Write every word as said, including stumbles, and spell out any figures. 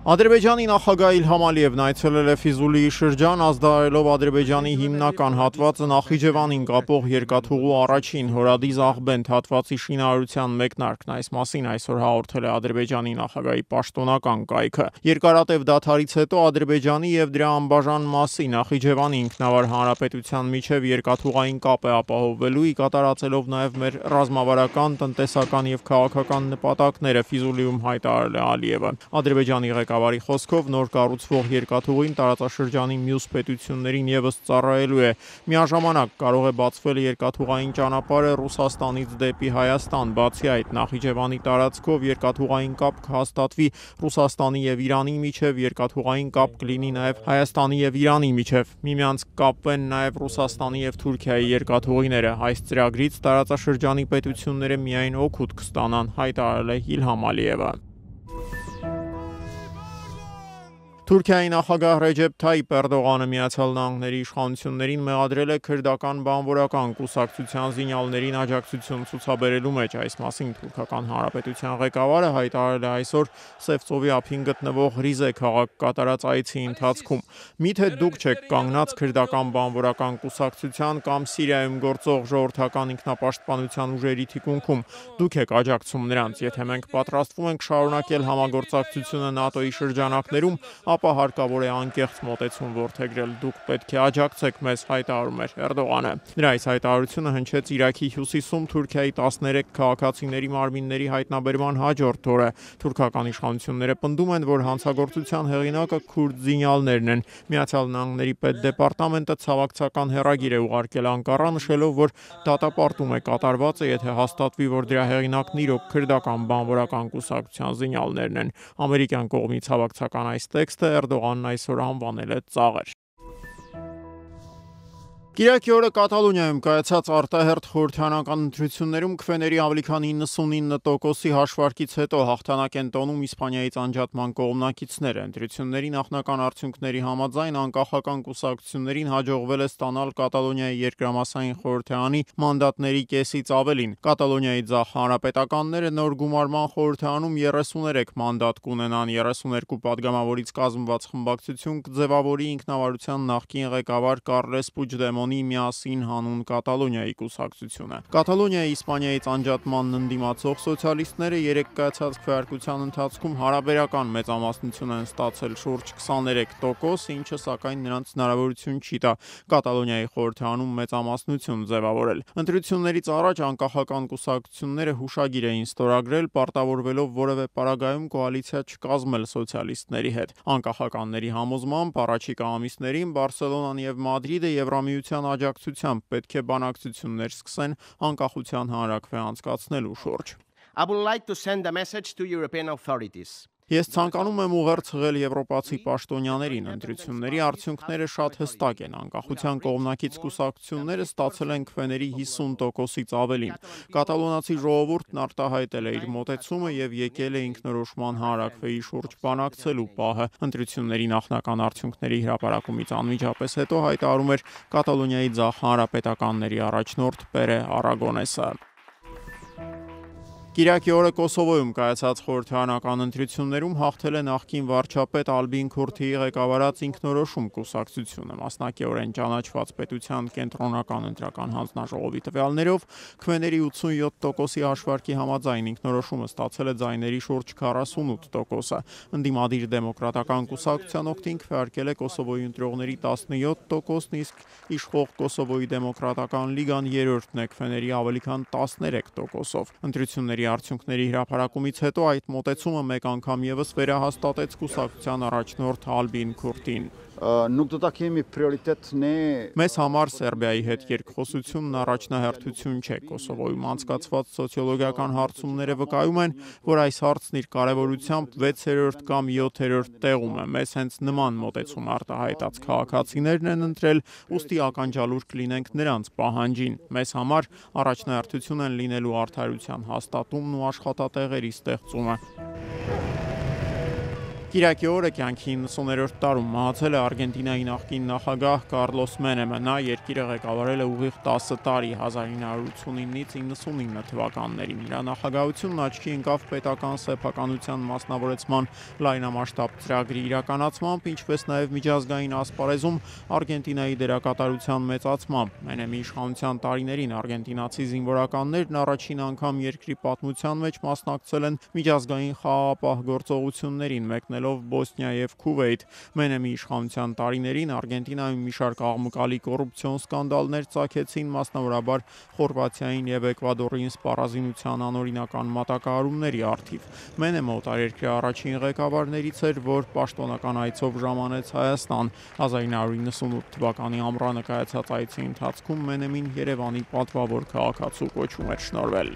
Ադրբեջանի նախագահ Իլհամ Ալիևն այցելել է Ֆիզուլիի շրջան, ազդարարելով Ադրբեջանի հիմնական հատվածը Նախիջևանին կապող երկաթուղու առաջին հորադիզ Աղբենդ հատվածի շինարարության մեկնարկն։ Այս մասին այսօր հաղորդել է Ադրբեջանի նախագահի պաշտոնական կայքը։ Երկարատև դադարից հետո Ադրբեջանի եւ դրա անբաժան մասի Նախիջևանի ինքնավար հանրապետության միջև երկաթուղային կապ է ապահովվելու, ի կատարածելով նաեւ մեր ռազմավարական, տնտեսական եւ քաղաքական նպատակները, Ֆիզուլիում հայտարարել է Ալիևը։ Ադրբեջանի ղեկավարի խոսքով նոր կառուցվող երկաթուղին տարածաշրջանի մյուս պետություններին եւս ծառայելու է։ Միաժամանակ կարող է բացվել երկաթուղային ճանապարհը Ռուսաստանից դեպի Հայաստան։ Բացի այդ, Նախիջևանի տարածքով երկաթուղային կապ կհաստատվի Ռուսաստանի եւ Իրանի միջև, երկաթուղային կապ կլինի նաեւ Հայաստանի եւ Իրանի միջև։ Միմյանց կապվեն նաեւ Ռուսաստանի եւ Թուրքիայի երկաթուղիները։ Այս ծրագրից տարածաշրջանի պետությունները միայն օգուտ կստանան, հայտարարել է Իլհամ Ալիևը։ Թուրքիայի նախագահ Ռեջեփ Թայիփ Էրդողանը Միացյալ Նահանգների իշխանություններին մեղադրել է քրդական բանվորական կուսակցության զինյալներին աջակցություն ցուցաբերելու մեջ։ Այս մասին Թուրքական Հանրապետության ղեկավարը հայտարարել է այսօր Սևծովի ափին գտնվող Ռիզե քաղաք կատարած այցի ընթացքում։ Միթե դուք չեք կանգնած քրդական բանվորական կուսակցության կամ Սիրիայում գործող ժողովրդական ինքնապաշտպանության ուժերի թիկունքում, դուք եք աջակցում նրանց։ Եթե մենք պատրաստվում ենք շարունակել համագործակցությունը ՆԱՏՕ-ի շրջանակներում, ապա հարկավոր է անկեղծ մոտեցում որդեգրել։ Դուք պետք է աջակցեք մեզ, հայտարարում էր Էրդողանը։ Նրա այս հայտարարությունը հնչեց Իրաքի հյուսիսում Թուրքիայի տասներեք քաղաքացիների մարմինների հայտնաբերման հաջորդ օրը։ Թուրքական իշխանությունները պնդում են, որ հանցագործության հեղինակը քուրդ զինյալներն են։ Միացյալ Նահանգների պետդեպարտամենտը ցավակցական հեռագիր է ուղարկել Անկարա, նշելով, որ դատապարտում է կատարվածը, եթե հաստատվի, որ դրա հեղինակն իրոք քրդական բանվորական կուսակցության զինյալներն են։ Ամերիկյան կողմի ցավակցական այս տեքստը Էրդողանն այսօր անվանել է ծաղր։ Կիրակի օրը Կատալոնիայում կայացած արտահերթ խորհրդարանական ընտրություններում քվեների ավելի քան իննսունինը տոկոսի հաշվարկից հետո հաղթանակ են տոնում Իսպանիայից անջատման կողմնակիցները։ Ընտրությունների նախնական արդյունքների համաձայն անկախական կուսակցություններին հաջողվել է ստանալ Կատալոնիայի երկրամասային խորհրդարանի մանդատների կեսից ավելին։ Կատալոնիայի ձախ հանրապետականները նոր գումարման խորհրդարանում երեսուներեք մանդատ կունենան։ երեսուներկու պատգամավորից կազմված խմբակցություն կձևավորի ինքնավարության նախկին ղեկավար Կարլես Պուջդեմոնի միասին հանուն Կատալոնիայի կուսակցությունը։ Կատալոնիայի Իսպանիայից անջատմանն ընդդիմացող սոցիալիստները երեք կայացած քվեարկության ընթացքում հարաբերական մեծամասնություն են ստացել շուրջ քսաներեք տոկոս, ինչը սակայն նրանց հնարավորություն չի տա Կատալոնիայի խորհրդարանում մեծամասնություն ձևավորել։ Ընտրություններից առաջ անկախական կուսակցությունները հուշագիր էին ստորագրել, պարտավորվելով որևէ պարագայում կոալիցիա չկազմել սոցիալիստների հետ։ Անկախականների համոզմամբ առաջիկա ամիսներին Բարսելոնան եւ Մադրիդը Եվրամիության աջակցությամբ պետք է բանակցություններ սկսեն անկախության հանրաքվե անցկացնելու շուրջ։ I would like to send a message to European authorities. Ես ցանկանում եմ ուղերձղել եվրոպացի պաշտոնյաներին։ Ընտրությունների արդյունքները շատ հստակ են։ Անկախության կողմնակից կուսակցությունները ստացել են քվեների հիսուն տոկոսից ավելին։ Կատալոնացի ժողովուրդն արտահայտել է իր մոտեցումը եւ եկել է ինքնորոշման հանրաքվեի շուրջ բանակցելու պահը։ Ընտրությունների նախնական արդյունքների հրապարակումից անմիջապես հետո հայտարարում էր Կատալոնիայի ձախ հանրապետականների առաջնորդ Պերը Արագոնեսը։ Կիրակի օրը Կոսովոյում կայացած խորհրդարանական ընտրություններում հաղթել է նախկին վարչապետ Ալբին Քուրթիի ղեկավարած ինքնորոշում կուսակցությունը։ Մասնակիորեն ճանաչված պետության կենտրոնական ընտրական հանձնաժողովի տվյալներով քվեների ութսունյոթ տոկոսի հաշվարկի համաձայն ինքնորոշումը ստացել է ձայների շուրջ քառասունութ տոկոսը։ Ընդդիմադիր դեմոկրատական կուսակցության օգտին քվեարկել է Կոսովոյի ընտրողների տասնյոթ տոկոսն, իսկ իշխող Կոսովոյի դեմոկրատական լիգան երրորդն է քվեների ավելի քան տասներեք տոկոսով։ Ընտրությունների արդյունքների հրապարակումից հետո այդ մոտեցումը մեկ անգամ եւս վերահաստատեց կուսակցության առաջնորդ Ալբին Քուրթին։ Մեզ համար Սերբիայի հետ երկխոսությունն առաջնահերթություն չէ։ Կոսովոյում անցկացված սոցիոլոգիական հարցումները վկայում են, որ այս հարցն իր կարևորությամբ վեցերորդ կամ յոթերորդ տեղում է։ Մեզ հենց նման մոտեցում արտահայտած քաղաքացիներն են ընտրել, ուստի ականջալուր կլինենք նրանց պահանջին։ Մեզ համար առաջնահերթություն են լինելու արդարության հաստատումն ու աշխատատեղերի ստեղծումը։ Կիրակի օրը կյանքի իննսուներորդ տարում մահացել է Արգենտինայի նախկին նախագահ Կարլոս Մենեմը։ Նա երկիրը ղեկավարել է ուղիղ տասը տարի՝ հազար ինը հարյուր ութսունինից իննսունինը թվականներին։ Նրա նախագահությունն աչքի ընկավ պետական սեփականության մասնավորեցման լայնամասշտաբ ծրագրի իրականացմամբ, ինչպես նաև միջազգային ասպարեզում Արգենտինայի դերակատարության մեծացմամբ։ Մենեմի իշխանության տարիներին արգենտինացի զինվորականներն առաջին անգամ երկրի պատմության մեջ մասնակցել են միջազգային խաղաղապահ գործողություններին, մեկնելով Բոսնիա և Քուվեյթ։ Մենեմի իշխանության տարիներին Արգենտինայում մի շարք աղմկալի կոռուպցիոն սկանդալներ ծագեցին, մասնավորաբար Խորվաթիային և Էկվադորին սպառազինության անօրինական մատակարարումների առթիվ։ Մենեմը օտարերկրյա առաջին ղեկավարներից էր, որ պաշտոնական այցով ժամանեց Հայաստան։ հազար ինը հարյուր իննսունութ թվականի ամռանը կայացած այցի ընթացքում Մենեմին Երևանի պատվավոր քաղաքացու կոչում էր շնորհվել։